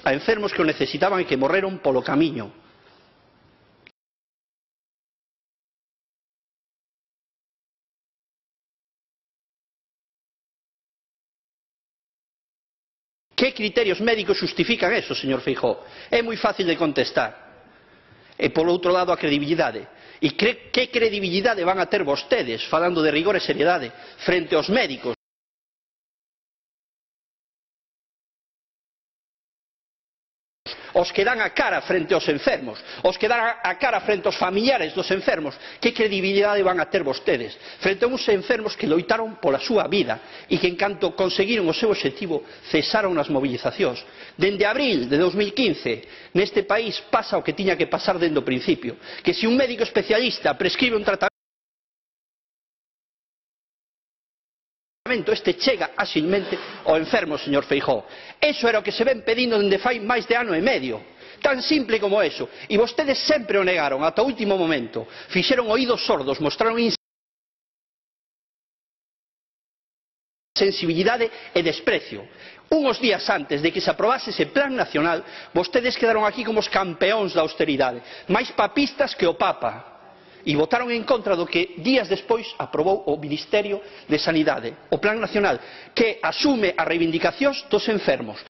a enfermos que o necesitaban e que morreron polo camiño. Que criterios médicos xustifican eso, señor Feijóo? É moi fácil de contestar. E, por outro lado, a credibilidade. E que credibilidade van a ter vostedes, falando de rigor e seriedade, frente aos médicos? Os que dan a cara frente aos enfermos, os que dan a cara frente aos familiares dos enfermos, que credibilidade van a ter vostedes frente a uns enfermos que loitaron pola súa vida e que, en canto conseguiron o seu obxectivo, cesaron as movilizacións. Dende abril de 2015 neste país pasa o que tiña que pasar dende o principio, que se un médico especialista prescribe un tratamento, este chega áxilmente ao enfermo, señor Feijóo. Eso era o que se ven pedindo dende fai máis de ano e medio. Tan simple como eso. E vostedes sempre o negaron, ata o último momento. Fixeron oídos sordos, mostraron insensibilidade e desprecio. Unos días antes de que se aprobase ese plan nacional, vostedes quedaron aquí como os campeóns da austeridade, máis papistas que o Papa. E votaron en contra do que días despois aprobou o Ministerio de Sanidade, o Plan Nacional, que asume as reivindicacións dos enfermos.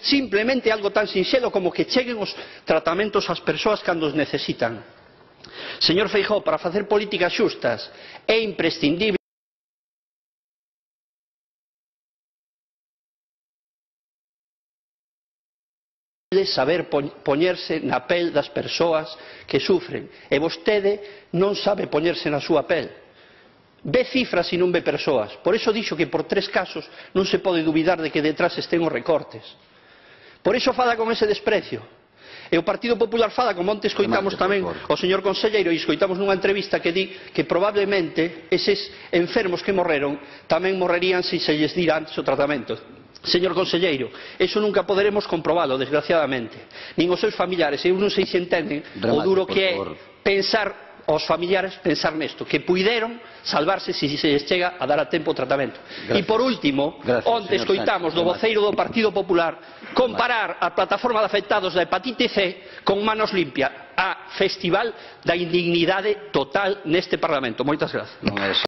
Simplemente algo tan sinxelo como que cheguen os tratamentos ás persoas cando os necesitan. Señor Feijóo, para facer políticas xustas é imprescindible saber poñerse na pel das persoas que sufren, e vostede non sabe poñerse na súa pel. Ve cifras e non ve persoas. Por iso dixo que por 3 casos non se pode dubidar de que detrás estén os recortes. Por iso fala con ese desprecio. E o Partido Popular fala, como onte escoitamos tamén o señor conselleiro, e escoitamos nunha entrevista que di que probablemente eses enfermos que morreron tamén morrerían se se lles dira antes o tratamento. Señor conselleiro, eso nunca poderemos comprobalo, desgraciadamente. Nin os seus familiares, eu non sei se entenden o duro que é pensar aos familiares, pensar nesto, que puideron salvarse se se lles chega a dar a tempo o tratamento. E por último, onte escoitamos do voceiro do Partido Popular comparar a plataforma de afectados da hepatite C con Manos Limpias, a festival da indignidade total neste Parlamento. Moitas grazas.